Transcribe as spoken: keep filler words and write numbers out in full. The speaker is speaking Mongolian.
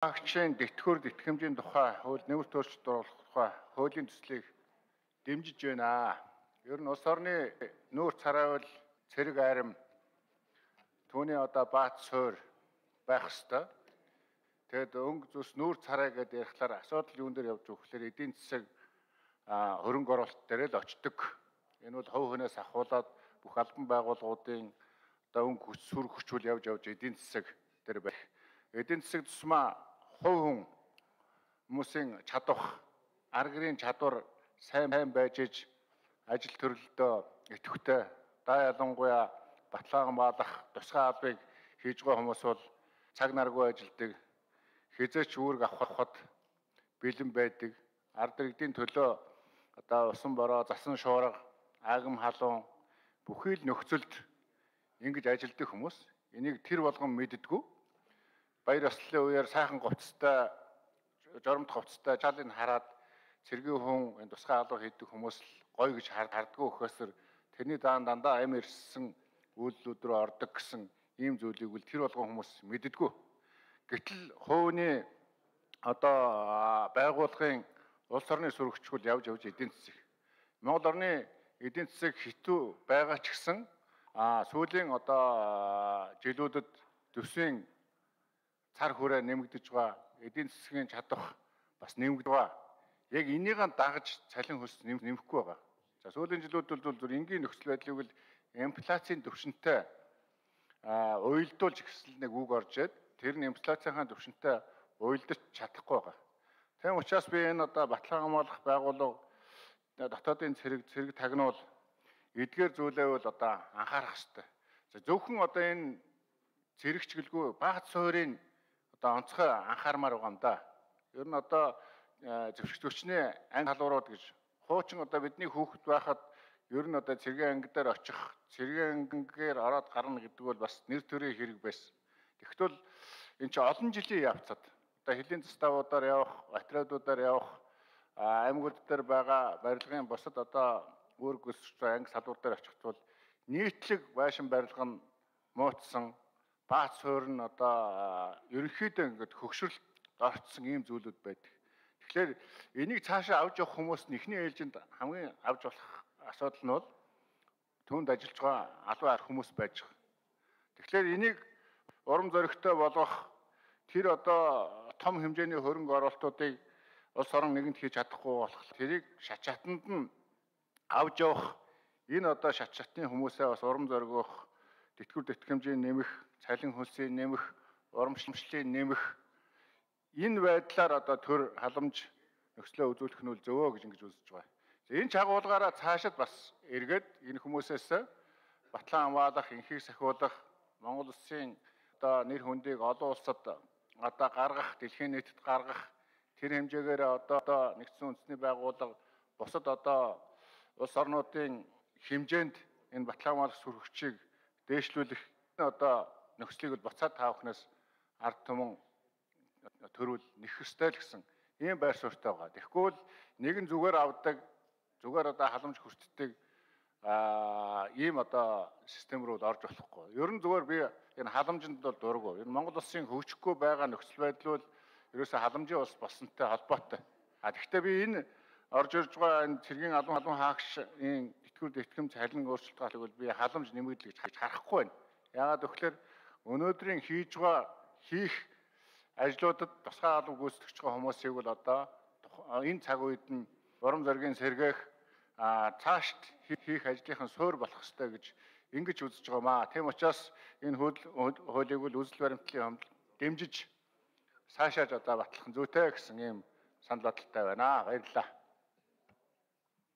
Агчийн дэтгэвэр тэтгэмжийн тухай хууль нэмэр төөрчлөлт оруулах тухай хуулийн төслийг дэмжиж байна. Ер нь улс орны нүүр царайвал цэрэг айрам түүний одоо баат суур байх ёстой. Тэгэд өнгө зүс нүүр царай гэдэг ярихлаар асуудал юун дээр явж өгөхлөөр эдийн засаг хөрөнгө оруулалт дээр л очдог. Энэ бол хувь хүнээс ахуулаад бүх албан байгууллагуудын одоо өнгө хүч сүр хүчүүл явж явж эдийн засаг дээр байх. Эдийн засаг тусмаа хувь хүн хүмүүсийн чадвах, арга гэрийн чадвар сайн байж иж ажил төрөлдөө идэвхтэй даа ялангуяа баталгаахан баалах тусгай албыг хийж байгаа хүмүүс бол цаг наргүй ажилдаг, хизээч үүрэг авахд бэлэн байдаг, ард иргэдийн төлөө одоо усан бороо, засан шуурга, агам халуун бүхий л нөхцөлд ингэж ажилдаг хүмүүс. Энийг тэр болгон мэддэггүй. Баяр ёслолын үеэр сайхан говцтой, жоромт говцтой жаалыг хараад цэргийн хүн энэ тусгай алба хийдэг хүмүүс л гоё гэж хардггүй өгөхөөсөр тэрний даан дандаа амь ирсэн үйлдэлүүд рүү ордог гэсэн ийм зүйлийг үл тэр болгон хүмүүс мэддэггүй. Гэтэл хувийн одоо байгууллагын улс орны сүрэгчгөл явж явж эдийн засаг. Монгол орны эдийн засаг хитүү байгаа ч гэсэн а сүүлийн одоо жилүүдэд төсвийн цар хүрээ нэмэгдэж байгаа, эдийн засгийн чадвар бас нэмэгдэж байгаа. Яг энийг дагаж цалин хөлс нэмэхгүй байгаа. За сүүлийн жилүүдэд бол зөв энгийн нөхцөл байдлыг бол инфляцийн түвшинтэй уялдуулж гэсэн нэг үг орж ирээд тэр нь инфляцийн түвшинтэй уялдаж чадахгүй байгаа. Тийм учраас би энэ одоо баталгаа хамгаалах байгууллага дотоодын цэрэг цэрэг тагнуул эдгээр зүйлээ бол одоо анхаарах хэрэгтэй. За зөвхөн одоо энэ цэрэгчгэлгүй багц суурийн одоо онцгой анхаармаар байгаа юм да. Ер нь одоо зөвшөөрч төвчний анги халуурууд гэж хуучин одоо бидний хүүхэд байхад ер нь одоо цэргийн анги дээр очих, цэргийн ангигээр ороод гарна гэдэг бол бас нэр төрийн хэрэг байсан. Тэгвэл энэ чинь олон жилийн явцад одоо хэлийн заставуудаар явах, отрядуудаар явах, аймагуд дээр байгаа барилгын бусад одоо үүрэг гүйцэтгэгч анги салбар дээр очихт бол нийтлэг байшин барилга нь муутсан, баат суур нь одоо ерөнхийдөө ингээд хөгшрөлт орцсон ийм зүйлүүд байдаг. Тэгэхээр энийг цаашаа авч явах хүмүүс нь эхний ээлжинд хамгийн авч болох асуудал нь бол түүнд ажиллаж байгаа албан хүмүүс байж байгаа. Тэгэхээр энийг урам зоригтой болгох тэр одоо том хэмжээний хөрөнгө оруулалтуудыг улс орон нэгэнд хийж чадахгүй болох тэрийг шат шатанд нь авч явах энэ одоо шат шатны хүмүүсээ бас урам зоригох, тэтгэвэр тэтгэмжийн нэмэх, цалин хөлсийн нэмэх, урамшламжлалын нэмэх энэ байдлаар одоо төр халамж нөхцөлөө үзүүлэх нь зөвөө гэж ингэж үзэж байгаа. Энэ чагуулгаараа цаашид бас эргээд энэ хүмүүсээс батлан хамгаалах, инхийг сахиулах, Монгол улсын одоо нэр хүндийг олон улсад одоо гаргах, дэлхийн нийтэд гаргах тэр хэмжээгээр одоо нэгдсэн үндэсний байгууллага бусад одоо улс орнуудын хэмжээнд энэ батлан хамгаалах сүрхчийг дээшлүүлэх одоо нөхцөлийг буцаад таавахнаас ард түмэн төрүүл нэх ёстой л гэсэн ийм байр суурьтай байгаа. Тэгэхгүй л нэгэн зүгээр авдаг, зүгээр одоо халамж хүртдэг ийм одоо систем рүү орж болохгүй. Ер нь зүгээр би энэ халамжинд бол дурггүй. Энэ Монгол улсын хөгжихгүй байгаа нөхцөл байдал бол ерөөсөө халамжийн улс болсонтой холбоотой. А гэхдээ би энэ орж ирж байгаа энэ цэргийн албан албан хаагчийн тэтгэвэр тэтгэмж цалин өөрчлөлт гаалыг бол би халамж нэмэгдэл гэж харахгүй байна. Яагаад гэвэл өнөөдрийн хийж байгаа хийх ажлуудад тусгай алба гүйцэтгэж байгаа хүмүүсийг бол одоо энэ цаг үед нь урам зоригийн сэргээх цаашд хийх ажлынхан суур болох ёстой гэж ингэж үзэж байгаа маа. Тийм учраас энэ хуулийг бол үзэл баримтлалын хамт дэмжиж цаашааж одоо батлах нь зүйтэй гэсэн ийм санал бодолтой байна. Баярлалаа.